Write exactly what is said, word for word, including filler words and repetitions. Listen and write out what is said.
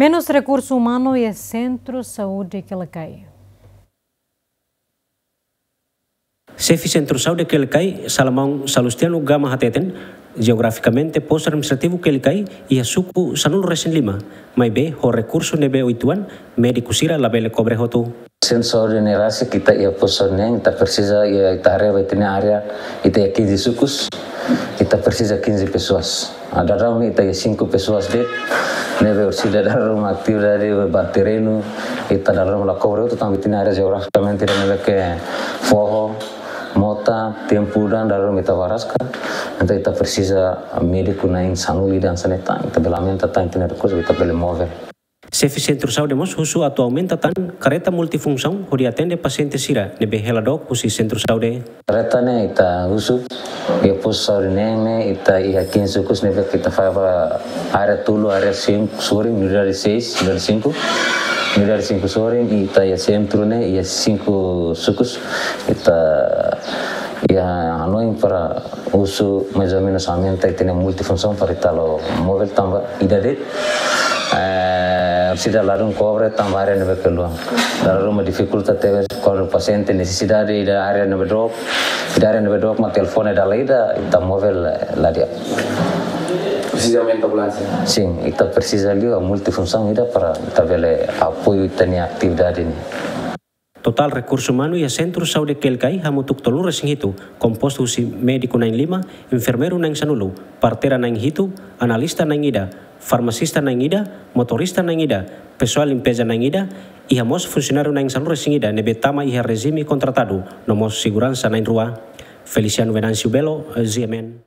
Penus rekursu umanu iha Sentru Saúde Quelicai. Xefe Sentru Saúde Quelicai, Salomão Salustiano Gama hateten, jeografikamente postu administrativu Quelicai iha suku sanulu-resin-lima, maibé ho rekursu ne'ebé oituan, médiku sira labele kobre hotu. Sentru Saúde ne'e rasik ita iha postu ne'e, ita presiza iha ita área, ita-nia área, ita iha quinze sukus, ita presiza quinze pessoas. Ah, dadaun ne'e ita iha cinco pessoas de'it, ne'ebé orsida dala ruma atividade ba terrenu, ita dala ruma la kobre hotu tanba ita-nia área jeografikamente ida ne'ebé ke foho, mota, tempu udan, dala ruma ita ba rasik. Entaun ita presiza médiku na'in sanulu ida hanesan ne'e tan, ita bele aumenta tan ita-nia rekursu, ita bele móvel. Xefe Sentru Saúde mós husu atu aumenta tan kareta multifunsaun hodi atende pasiente sira ne'ebé hela dook husi Sentru Saúde. Kareta ne'e ita husu iha postu saúde ne'e, ne'e ita iha quinze sukus ne'ebé ke ita fó ba área tolu, área cinco sorin, unidade seis, unidade cinco, unidade cinco sorin, ita iha sentru ne'e iha cinco sukus, ita iha hanoin para husu mais ou menus aumenta ita-nia multifunsaun para ita halo móvel tanba ida de'it, eh, orsida ladún kobre tanba área ne'ebé ke luan. Dala ruma difikulta tebes kuandu pasiente nesesidade ida área ne'ebé dook, ida área ne'ebé dook mak telefone dala ida, ita móvel, eh, la di'ak. Presiza aumenta ambulánsia? Sin, ita presiza liu multifunsaun ida para ita bele apoiu ita-nia atividade ne'e. Totál rekursu umanu iha Sentru Saúde Quelicai hamutuk tolunulu-resin-hitu, kompostu husi médiku na'in lima, enfermeiru na'in sanulu, parteira na'in hitu, analista na'in ida, farmasista na'in ida, motorista na'in ida, pesoál limpeza na'in ida, iha mós funsionáriu na'in sanulu-resin-ida ne'ebé tama iha rejime kontratadu, no mós seguransa na'in rua. Feliciano Venâncio Belo, G M N.